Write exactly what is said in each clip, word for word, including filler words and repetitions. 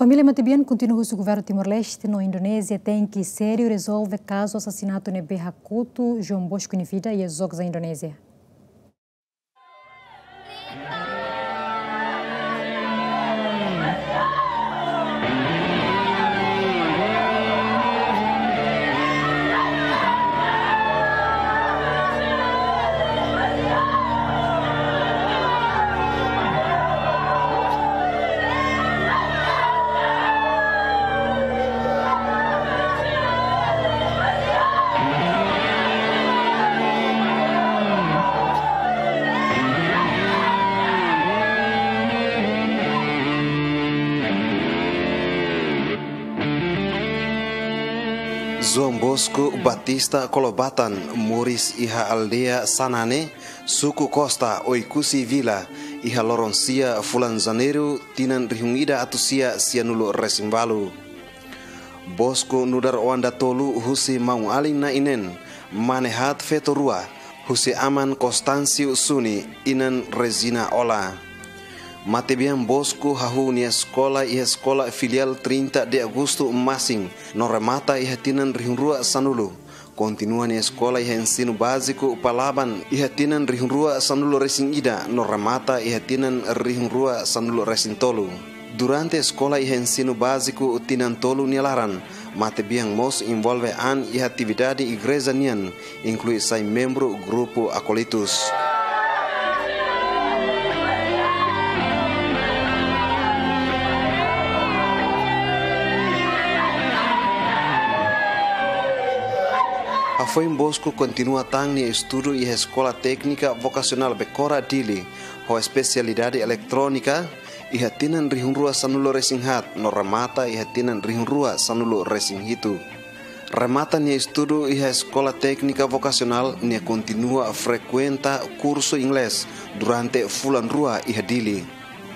Família matebian kontinua husu governu Timor-Leste no Indonézia tenke sériu rezolve kazu asasinatu ne'ebé hakotu João Bosco nia vida iha Jogja, Indonézia. João Bosco Batista Kolobatan moris iha aldeia Sanane, suku Costa, Oekusi Vila, iha loron sia fulan Janeiru tinan rihun ida atus sia sianulu resin ualu. Bosco nu'udar oan datolu husi maun-alin na'in-neen, mane haat feto rua, husi aman Constâncio Suni, inan Regina Ola. Matebian Bosco hahú nia eskola iha eskola filiál trinta de Agosto Masin, no remata iha tinan rihun rua sanulu. Kontinua nia eskola iha ensinu báziku Palaban iha tinan rihun rua sanulu resin ida, no remata iha tinan rihun rua sanulu resin tolu. Durante eskola iha ensinu báziku tinan tolu nia laran, matebian mós envolve an iha atividade igreja nian, inklui sai membru grupu Akólitus. Hafoin Bosco kontinua tan nia estudu iha Eskola Téknika Vokasionál Becora Dili, ho espesialidade eletrónika, iha tinan rihun rua sanulu resin haat, no remata iha tinan rihun rua sanulu resin hitu. Remata nia estudu iha Eskola Téknika Vokasionál, nia kontinua frekuenta kursu inglés durante fulan rua iha Dili.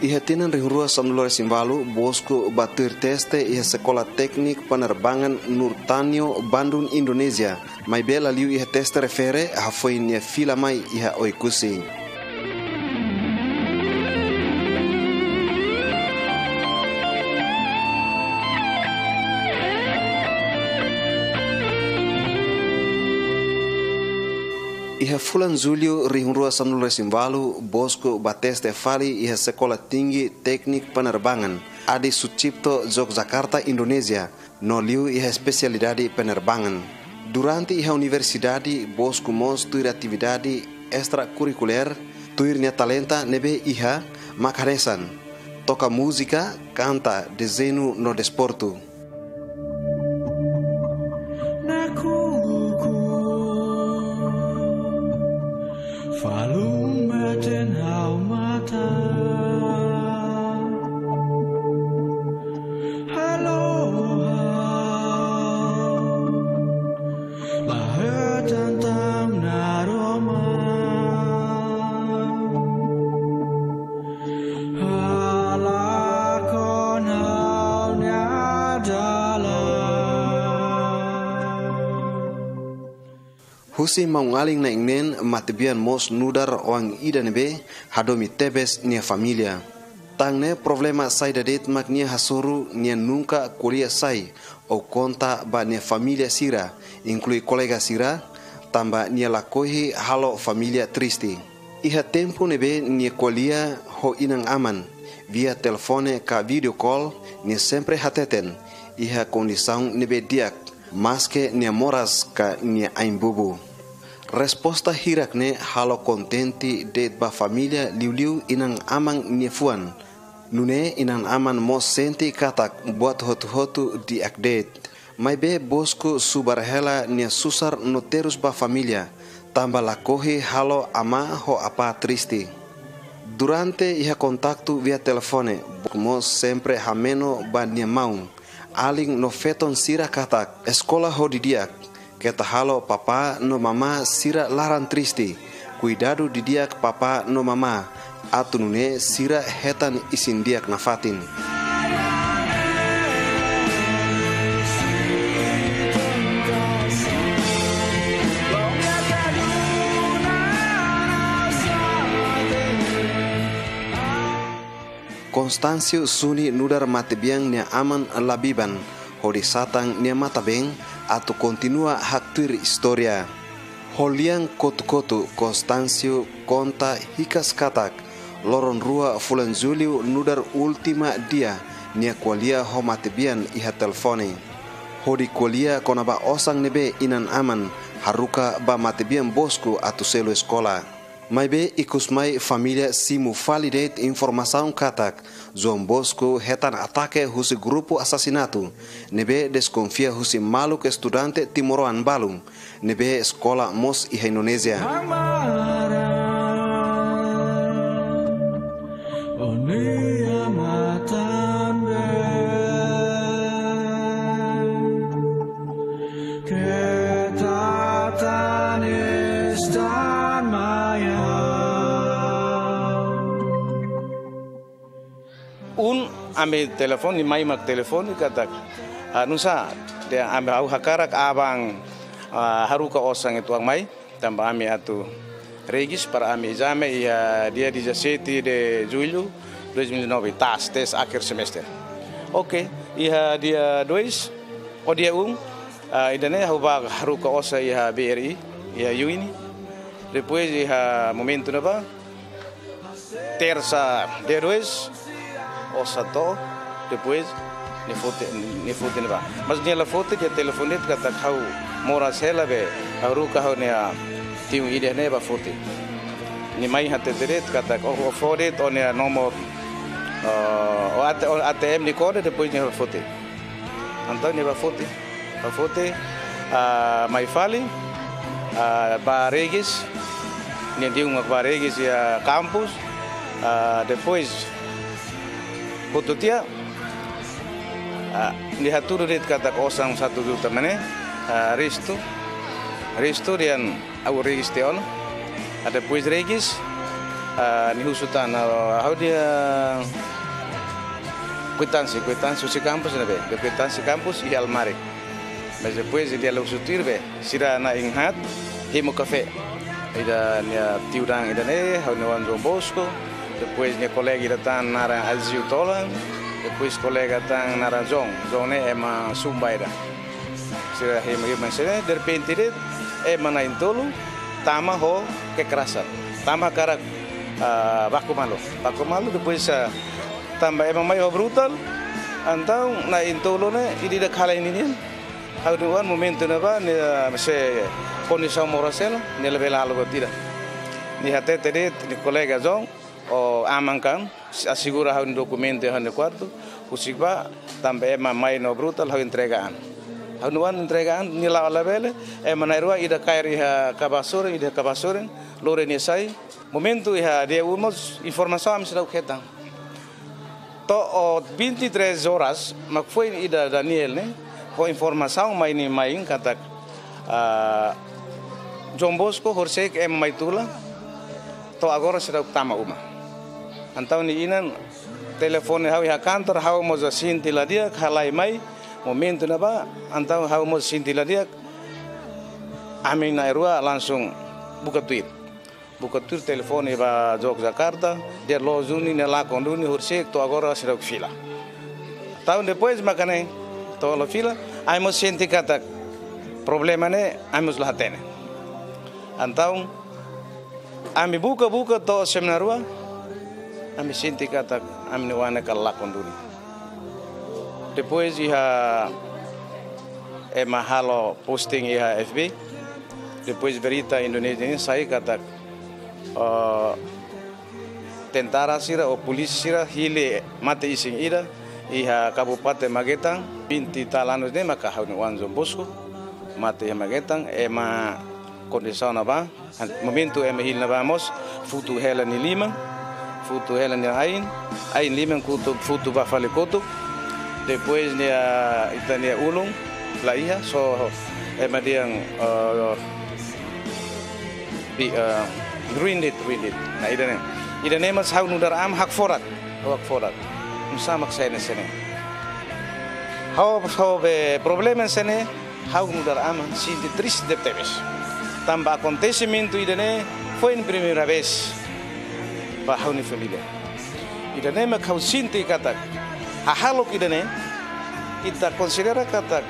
Iha tinan rihun rua sanulu resin ualu, Bosco bá tuir teste iha Sekolah Teknik Penerbangan Nurtanio, Bandung, Indonézia, maibé la liu iha teste refere, hafoin nia fila mai iha Oekusi. Iha fulan Jullu rihun rua sanulu resin ualu, Bosco bá teste fali iha Sekolah Tinggi Teknik Penerbangan Adi Sucipto, Yogyakarta, Indonézia, no liu iha espesialidade penerbangan. Durante iha universidade, Bosco mós tuir atividade estrakurrikulár, tuir nia talenta ne'ebé iha, mak hanesan toka múzika, kanta, dezeñu no desportu. Nakukun, falun meten ha'u matan. Halo ha'u, la hetan tan naroman. Halakon ha'u-nia dalan. Husi maun-alin na'in-neen, matebian mós nu'udar oan ida ne'ebé hadomi tebes nia família. Tan ne'e problema saida de'it mak nia hasoru, nia nunka ko'alia sai ou konta ba nia família sira, inklui kolega sira, tanba nia lakohi halo família triste. Iha tempu ne'ebé nia ko'alia ho inan-aman via telefone ka video call, nia sempre hateten iha kondisaun ne'ebé di'ak, maske nia moras ka nia ain-bubu. Resposta hirak ne'e halo kontente de'it ba família, liuliu inan-aman nia fuan. Nune'e inan-aman mós sente katak buat hotu-hotu di'ak de'it. Maibé Bosco subar hela nia susar no terus ba família, tanba lakohi halo amá ho apá triste. Durante iha kontaktu via telefone, Bosco mós sempre hameno ba nia maun-alin no feton sira katak, eskola ho didi'ak, keta halo papá no mamá sira laran triste, kuidadu didi'ak papá no mamá, atu nune'e sira hetan isin-di'ak nafatin. Constâncio Suni nu'udar matebian nia aman la biban, hodi satan nia matan-been atu kontinua haktuir istória. Ho lian kotu-kotu, Constâncio konta hikas katak loron rua fulan Jullu nu'udar última dia nia ko'alia ho matebian iha telefone. Hodi ko'alia kona-ba osan ne'ebé inan-aman haruka ba matebian Bosco atu selu eskola. Maibé ikus mai família simu fali de'it informasaun katak João Bosco hetan atake husi grupu asasinatu ne'ebé deskonfia husi maluk estudante timoroan balun ne'ebé eskola mós iha Indonézia. Ohin ami telefone, mai mak telefone katak, ah, nusá, dehan ami, ha'u hakarak aban, ah, haruka osan uitoan mai, tanba ami atu regis para ami ezame iha dia dezassete de julho dois mil e nove, TAS, tes akhir semester. Oke, iha dia dois, ou dia um, ah, ida-ne'e ha'u bá haruka osan iha B R I, iha UNI. Depois iha momentu ne'ebá, tersa dia dois, osan to'o, depois nia foti, nia foti ne'ebá. Mas nia la foti, nia telefone de'it katak ha'u moras hela be, haruka ha'u-nia tiun ida ne'e bá foti. Nia mai hatete de'it katak, ó, ó fó de'it ó-nia nomor, eh, ó AT, ó ATM nia kode, depois nia bá foti. Entaun nia bá foti. Bá foti, ah, mai fali, ah, bá regis, nia tiun mak bá regis iha kampus, ah, depois hotu tiha, ah, nia hatudu de'it katak osan satu juta mak ne'e, ah, restu, restu dehan ha'u regis tiha ona. Ah, depois regis, ah, nia husu tan, ah, ha'u-nia kuitánsia, kuitánsia husi kampus ne'ebé, dehan kuitánsia kampus iha almari. Mas depois nia la husu tuir be, sira na'in haat hemu kafé. Ida nia tiu-dan ida-ne'e, ha'u-nia oan João Bosco, depois nia kolega ida tan naran Alzio Tolan, depois kolega tan naran João, João ne'e ema Sumba ida. Sira hemu, hemu hanesan ne'e, derrepente de'it, ema na'in-tolu tama ho kekerasan. Tama hakarak, ah, baku malu. Baku malu, depois, ah, tanba ema mai ho brutal, entaun na'in-tolu ne'e ida-idak halo ninian. Ha'u-nia oan momentu ne'ebá, nia, ah, sei kondisaun moras hela, nia labele halo buat ida. Nia hatete de'it nia kolega João, ó aman kan, asegura ha'u-nia dokumentu iha ha'u-nia kuartu, husik bá, tanba ema mai no brutal, ha'u entrega an. Ha'u-nia oan entrega an, nia la'o labele, ema na'in-rua, ida kaer iha kaba sorin, ida iha kaba sorin, lori nia sai. Momentu iha dia um mós, informasaun ami seidauk hetan. To'o vinte e três horas, mak foin ida Daniel ne'e, ho informasaun mai nia main katak, ah, João Bosco horisehik ema mai tula, to'o agora seidauk tama uma. Entaun nia inan telefone ha'u iha kantor, ha'u mós sente la di'ak, halai mai, momentu ne'ebá, entaun ha'u mós sente la di'ak, ami na'in-rua langsung buka tuir. Buka tuir telefone ba Jogjakarta, dehan loos duni, nia lakon duni, horisehik to'o agora seidauk fila. Entaun depois maka ne'e, to'o la fila, ami mós sente katak problema ne'e, ami mós la hatene. Entaun, ami buka-buka to'o semana rua, ami sente katak ami-nia oan ne'e kala lakon duni. Depois iha ema halo posting iha F B, depois berita Indonézia ne'e sai katak, eh, tentara sira ou polísia sira hili mate-isin ida iha Kabupaten Magetan, vinte e tal anos ne'e maka ha'u-nia oan João Bosco, mate iha Magetan, ema kondisaun ne'ebá, momentu ema hili ne'ebá mós, futu hela nia liman, futu hela nia ain, ain liman kotuk, futu ba fali kotuk, depois nia, ita-nia ulun, la iha, só ema dehan, eh, bi-, eh, ruin de'it, ruin de'it. Nah, ida-ne'e. Ida-ne'e mós ha'u nu'udar aman hakfodak, ha'u hakfodak. Nusá mak sai hanesan ne'e. Ha'u, ha'u be problema hanesan ne'e, ha'u nu'udar aman sente triste tebetebes. Tanba akontesimentu ida-ne'e foin primeira vez ba ha'u-nia família. I Ida-ne'e mak ha'u sente katak hahalok ida-ne'e, ita konsidera katak,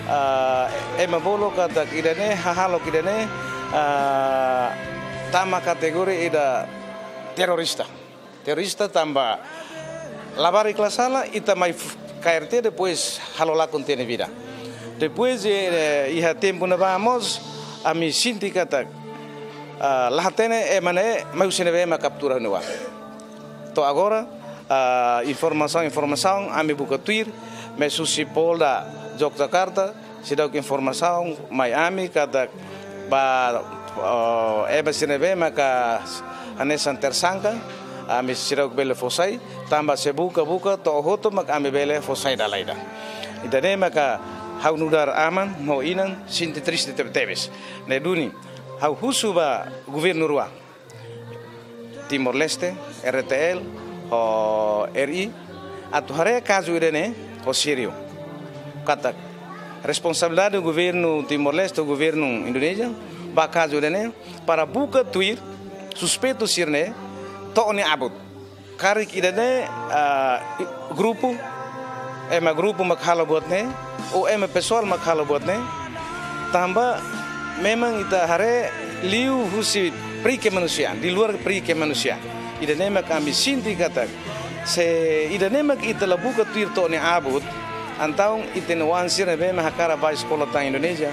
ah, ema bolu katak ida-ne'e, hahalok ida-ne'e, ah, tama kategoria ida terorista. Terorista tanba labarik la sala, ita mai f-, K R T, depois halo lakon tiha nia vida. Depois, eh, iha tempu ne'ebá mós, ami sente katak, ah, la hatene ema ne'e mai husi ne'ebé mak kaptura ne'ebá. To'o agora, ah, informasaun, informasaun, ami buka tuir, mais husi Polda Jogjakarta, seidauk informasaun mai ami katak ba, ah, ema sira ne'ebé maka hanesan tersangka, ami seidauk bele fó sai, tanba se buka-buka to'o hotu mak ami bele fó sai dala ida. Ida-ne'e maka ha'u nu'udar aman ho inan sente triste tebetebes. Ne'e duni, ha'u husu ba governu rua, Timor-Leste, R T L, ho R I, atu haree kazu ida-ne'e ho sériu. Katak responsabilidade governu Timor-Leste, governu Indonézia, ba kazu ida-ne'e, para buka tuir suspeitu sira-ne'e to'o nia abut. Karik ida-ne'e, ah, i-, grupu, ema grupu mak halo buat ne'e, ou ema pesoál mak halo buat ne'e, tanba memang ita haree liu husi peri-kemanusiaan, di luar peri-kemanusiaan. Ida-ne'e mak ami sente katak, se ida-ne'e mak ita la buka tuir to'o nia abut, entaun ita-nia oan sira ne'ebé mak hakarak bá eskola tan Indonézia,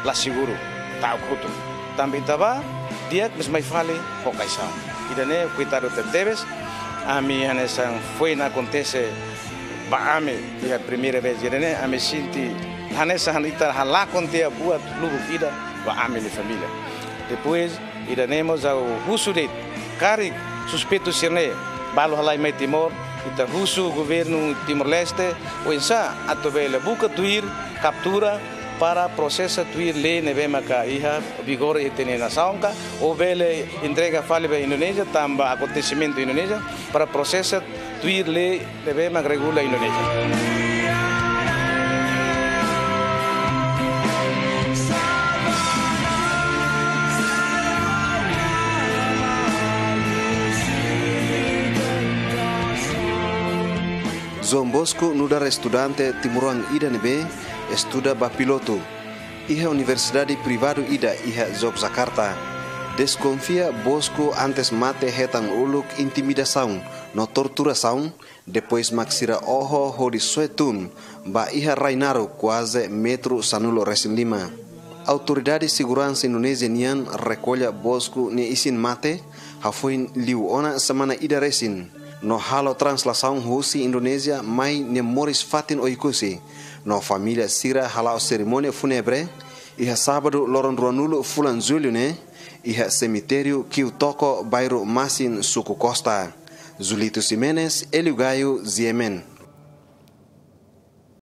la seguru, ta'uk hotu. Tanba ita bá, di'ak, mais mai fali ho kaixaun. Ida-ne'e koitadu tebetebes, ami hanesan foin akontese ba ami iha primeira vez ida-ne'e, ami sente hanesan ita halakon tiha buat lubuk ida ba ami-nia família. Depois, ida-ne'e mós ha'u husu de'it, karik suspeitu sira-ne'e balu halai mai Timor, ita husu governu Timor-Leste oinsá atu bele buka tuir, kaptura, para prosesa tuir lei ne'ebé maka iha vigor iha ita-nia nasaun ka, ou bele entrega fali ba Indonézia, tanba akontesimentu Indonézia, para prosesa tuir lei ne'ebé mak regula Indonézia. João Bosco nu'udar estudante timoroan ida ne'ebé estuda ba pilotu iha universidade privadu ida iha Yogyakarta. Deskonfia Bosco antes mate hetan uluk intimidasaun no torturasaun, depois mak sira oho hodi soe tun ba iha rai naruk kuaze metru sanulu resin lima. Autoridade seguransa Indonézia nian rekolla Bosco nia isin mate, hafoin liu ona semana ida resin, no halo translasaun husi Indonézia mai nia moris fatin Oekusi, no família sira hala'o serimónia fúnebre iha sábadu loron ruanulu fulan Jullu ne'e, iha semitériu Kiu Toko, bairru Masin, suku Costa. Julito Ximenes, Hélio Gaio, G M N.